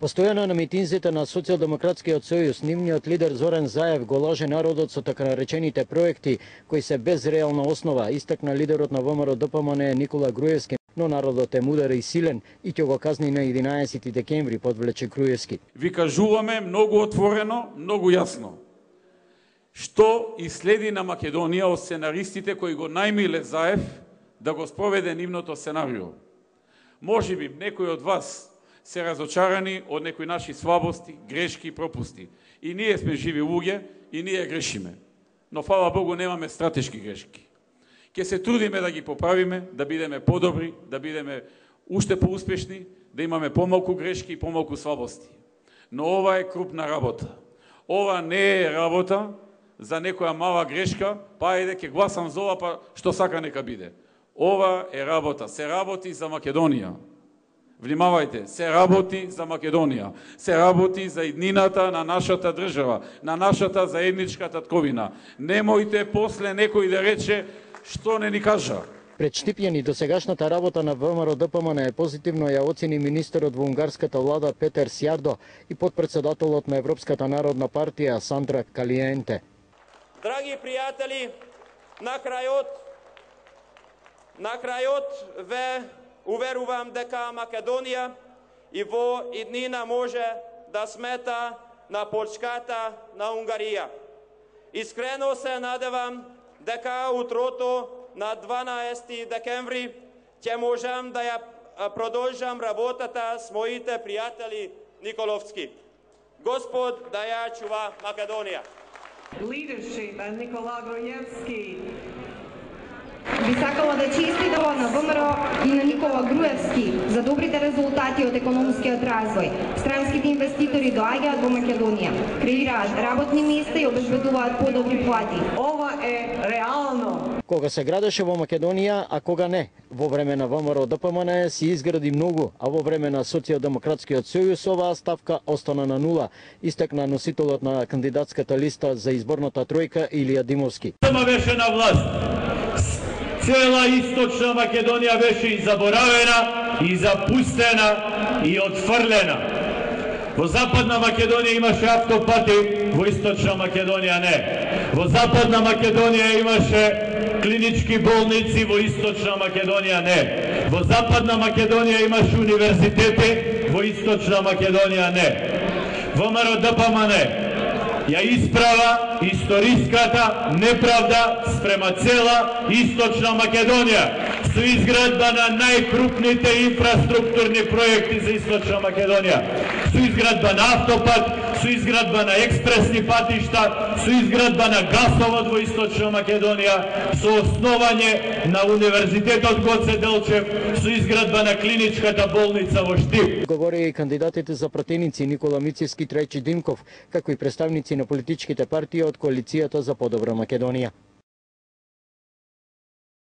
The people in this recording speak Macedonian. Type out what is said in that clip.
Постојано на митинзите на Социјалдемократскиот сојуз, нивниот лидер Зоран Заев го лаже народот со така наречените проекти кои се без реална основа, истакна лидерот на ВМРО-ДПМН Никола Груевски, но народот е мудар и силен и ќе го казни на 11 декември, подвлече Груевски. Ви кажуваме многу отворено, многу јасно. Што и следи на Македонија од сценаристите кои го најмиле Заев да го спроведе нивното сценарио. Можеби некои од вас се разочарани од некои наши слабости, грешки и пропусти. И ние сме живи луѓе и ние грешиме. Но фала Богу немаме стратешки грешки. Ќе се трудиме да ги поправиме, да бидеме подобри, да бидеме уште поуспешни, да имаме помалку грешки и помалку слабости. Но ова е крупна работа. Ова не е работа за некоја мала грешка, па ајде ќе гласам за ова, па што сака нека биде. Ова е работа, се работи за Македонија. Внимавајте, се работи за Македонија, се работи за иднината на нашата држава, на нашата заедничка татковина. Немојте после некој да рече што не ни кажа. Пред Штипјани досегашната работа на ВМРО-ДПМН позитивно ја оцени министерот во унгарската влада Петер Сјардо и подпредседателот на Европската народна партија Сандра Калиенте. Драги пријатели, на крајот ве уверувам дека Македонија и во иднина може да смета на почката на Унгарија. Искрено се надевам дека утрото на 12 декември ќе можам да ја продолжам работата с моите пријатели Николовски. Господ да ја чува Македонија. Leadership and Nikola Gruevski. Би сакала да честитам на ВМРО и на Никола Груевски за добрите резултати од економскиот развој. Странските инвеститори доаѓаат во Македонија, креираат работни места и обезбедуваат подобри плати. Ова е реално. Кога се градеше во Македонија, а кога не? Во време на ВМРО-ДПМН се изгради многу, а во време на Социјалдемократскиот сојуз оваа ставка остана на нула, истакна носителот на кандидатската листа за изборната тројка Илија Димовски. Беше на власт. Цела источна Македонија беше и заборавена, и запустена, и отфрлена. Во Западна Македонија имаше автопати, во Источна Македонија не. Во Западна Македонија имаше клинички болници, во Источна Македонија не. Во Западна Македонија имаше универзитети, во Источна Македонија не. ВМРО-ДПМН ја исправа историската неправда спрема цела Источна Македонија со изградба на најкрупните инфраструктурни проекти за Источна Македонија, со изградба на автопат, со изградба на експресни патишта, со изградба на гасовод во Источна Македонија, со основање на Универзитетот Гоце Делчев, со изградба на клиничката болница во Штип. Говореа и кандидатите за пратеници Никола Мицевски, Трајчи Димков, како и представници на политичките партии од коалицијата за подобра Македонија.